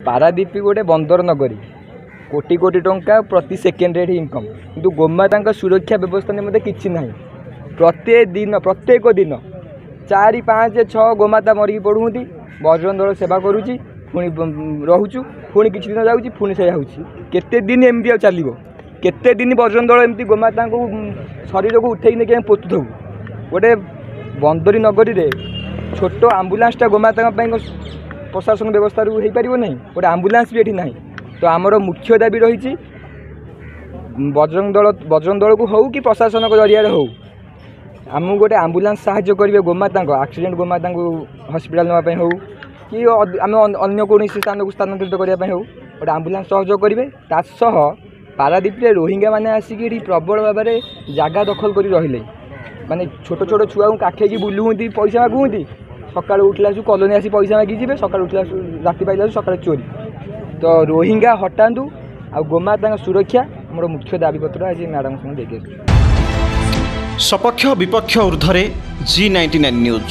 ପାରାଦ୍ୱୀପ ଗୋଟେ ବନ୍ଦର ନଗରୀ, କୋଟି କୋଟି ଟଙ୍କା ପ୍ରତି ସେକେଣ୍ଡରେ ଏଠି ଇନକମ୍, କିନ୍ତୁ ଗୋମାତାଙ୍କ ସୁରକ୍ଷା ବ୍ୟବସ୍ଥା ନିମନ୍ତେ କିଛି ନାହିଁ। ପ୍ରତ୍ୟେକ ଦିନ, ପ୍ରତ୍ୟେକ ଦିନ 4, 5, 6 ଗୋମାତା ମରିକି ପଡ଼ୁଛନ୍ତି। ବଜରଙ୍ଗ ଦଳ ସେବା କରୁଛି, ପୁଣି ରହୁଛୁ, ପୁଣି କିଛି ଦିନ ଯାଉଛି, ପୁଣି ସେଇଆ ହେଉଛି। କେତେ ଦିନ ଏମିତି ଆଉ ଚାଲିବ? କେତେ ଦିନ ବଜରଙ୍ଗ ଦଳ ଏମିତି ଗୋମାତାଙ୍କୁ ଶରୀରକୁ ଉଠେଇକି ନେଇକି ଆମେ ପୋତୁଥିବୁ? ଗୋଟେ ବନ୍ଦରୀ ନଗରୀରେ ଛୋଟ ଆମ୍ବୁଲାନ୍ସଟା ଗୋମାତାଙ୍କ ପାଇଁ ପ୍ରଶାସନ ବ୍ୟବସ୍ଥାରୁ ହେଇପାରିବ ନାହିଁ? ଗୋଟେ ଆମ୍ବୁଲାନ୍ସ ବି ଏଠି ନାହିଁ। ତ ଆମର ମୁଖ୍ୟ ଦାବି ରହିଛି, ବଜରଙ୍ଗ ଦଳ, ବଜରଙ୍ଗ ଦଳକୁ ହେଉ କି ପ୍ରଶାସନଙ୍କ ଜରିଆରେ ହେଉ, ଆମକୁ ଗୋଟେ ଆମ୍ବୁଲାନ୍ସ ସାହାଯ୍ୟ କରିବେ। ଗୋମାତାଙ୍କ ଆକ୍ସିଡେଣ୍ଟ ଗୋମାତାଙ୍କୁ ହସ୍ପିଟାଲ ନେବା ପାଇଁ ହେଉ କି ଆମେ ଅନ୍ୟ କୌଣସି ସ୍ଥାନକୁ ସ୍ଥାନାନ୍ତରିତ କରିବା ପାଇଁ ହେଉ, ଗୋଟେ ଆମ୍ବୁଲାନ୍ସ ସହଯୋଗ କରିବେ। ତା ସହ ପାରାଦ୍ୱୀପରେ ରୋହିଙ୍ଗା ମାନେ ଆସିକି ଏଠି ପ୍ରବଳ ଭାବରେ ଜାଗା ଦଖଲ କରି ରହିଲେ, ମାନେ ଛୋଟ ଛୋଟ ଛୁଆଙ୍କୁ କାଖେଇକି ବୁଲୁଛନ୍ତି, ପଇସା ମାଗୁଛନ୍ତି। ସକାଳୁ ଉଠିଲା ଆସୁ କଲୋନୀ ଆସି ପଇସା ମାଗି ଯିବେ, ସକାଳୁ ଉଠିଲା ଆସୁ, ରାତି ପାଇଲା ଆସୁ ସକାଳେ ଚୋରି। ତ ରୋହିଙ୍ଗା ହଟାନ୍ତୁ ଆଉ ଗୋମାତାଙ୍କ ସୁରକ୍ଷା ଆମର ମୁଖ୍ୟ ଦାବିପତ୍ର ଆଜି ମ୍ୟାଡ଼ାମଙ୍କ ସାଙ୍ଗେ ଦେଇକି ଆସିଛୁ। ସପକ୍ଷ ବିପକ୍ଷ ଉର୍ଦ୍ଧ୍ୱରେ ଜି 99 ନ୍ୟୁଜ୍।